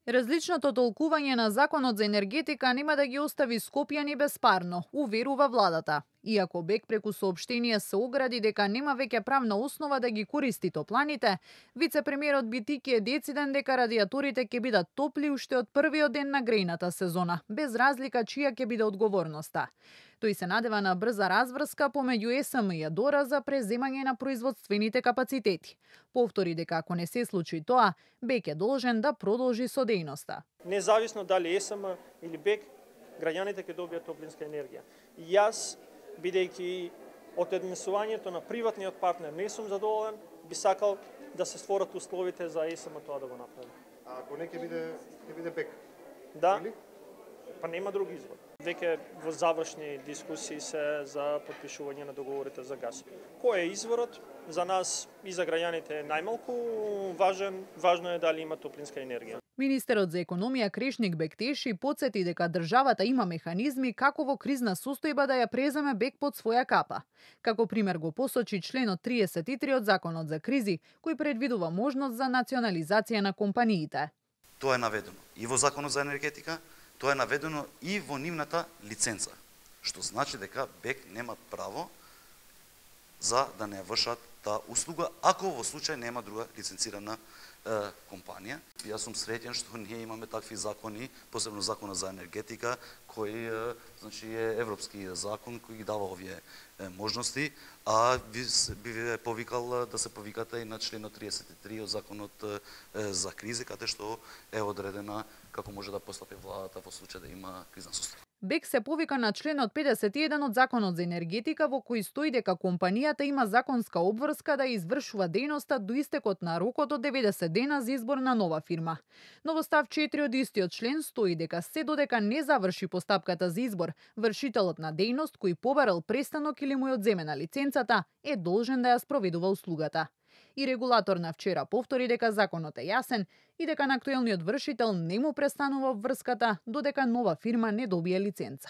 Различното толкување на законот за енергетика нема да ги остави скопјани безпарно, уверува владата. Иако БЕК преку соопштение се огради дека нема веќе правна основа да ги користи топланите, вице-премиерот Битики е дециден дека радиаторите ќе бидат топли уште од првиот ден на грејната сезона, без разлика чија ќе биде одговорноста. Тој се надева на брза разврска помеѓу ЕСМ и АДОРА за преземање на производствените капацитети. Повтори дека ако не се случи тоа, БЕК е должен да продолжи со дејноста. Независно дали ЕСМ или БЕК, граѓаните ќе добијат топлинска енергија. Јас, бидејќи од однесувањето на приватниот партнер не сум задоволен, би сакал да се створат условите за ЕСМ тоа да го направи. А ако не ќе биде БЕК? Да, па нема друг избор. Веќе во завршни дискусии се за потпишување на договорите за газ. Кој е изворот? За нас и за граѓаните е најмалку важен, важно е дали има топлинска енергија. Министерот за економија Крешник Бектеши потсети дека државата има механизми како во кризна состојба да ја преземе БЕК под своја капа. Како пример го посочи членот 33 од Законот за кризи, кој предвидува можност за национализација на компаниите. Тоа е наведено и во Законот за енергетика, тоа е наведено и во нивната лиценца, што значи дека БЕК нема право за да не вршат таа услуга, ако во случај нема друга лиценцирана компанија. Јас сум среќен што ние имаме такви закони, посебно Законот за енергетика, кој значи е европски закон кој ги дава овие можности, а би ве повикал да се повикате и на членот 33 од Законот за кризи, каде што е одредена како може да постапи владата во случај да има кризна состојба. БЕК се повика на членот 51 од Законот за енергетика во кој стои дека компанијата има законска обврска да извршува дејноста до истекот на рокот од 90 дена за избор на нова фирма. Но во став 4 од истиот член стои дека се додека не заврши постапката за избор, вршителот на дејност кој побарал престанок или му е одземена лиценцата е должен да ја спроведува услугата. И регулатор на вчера повтори дека законот е јасен и дека на актуелниот вршител не му престанува врската додека нова фирма не добие лиценца.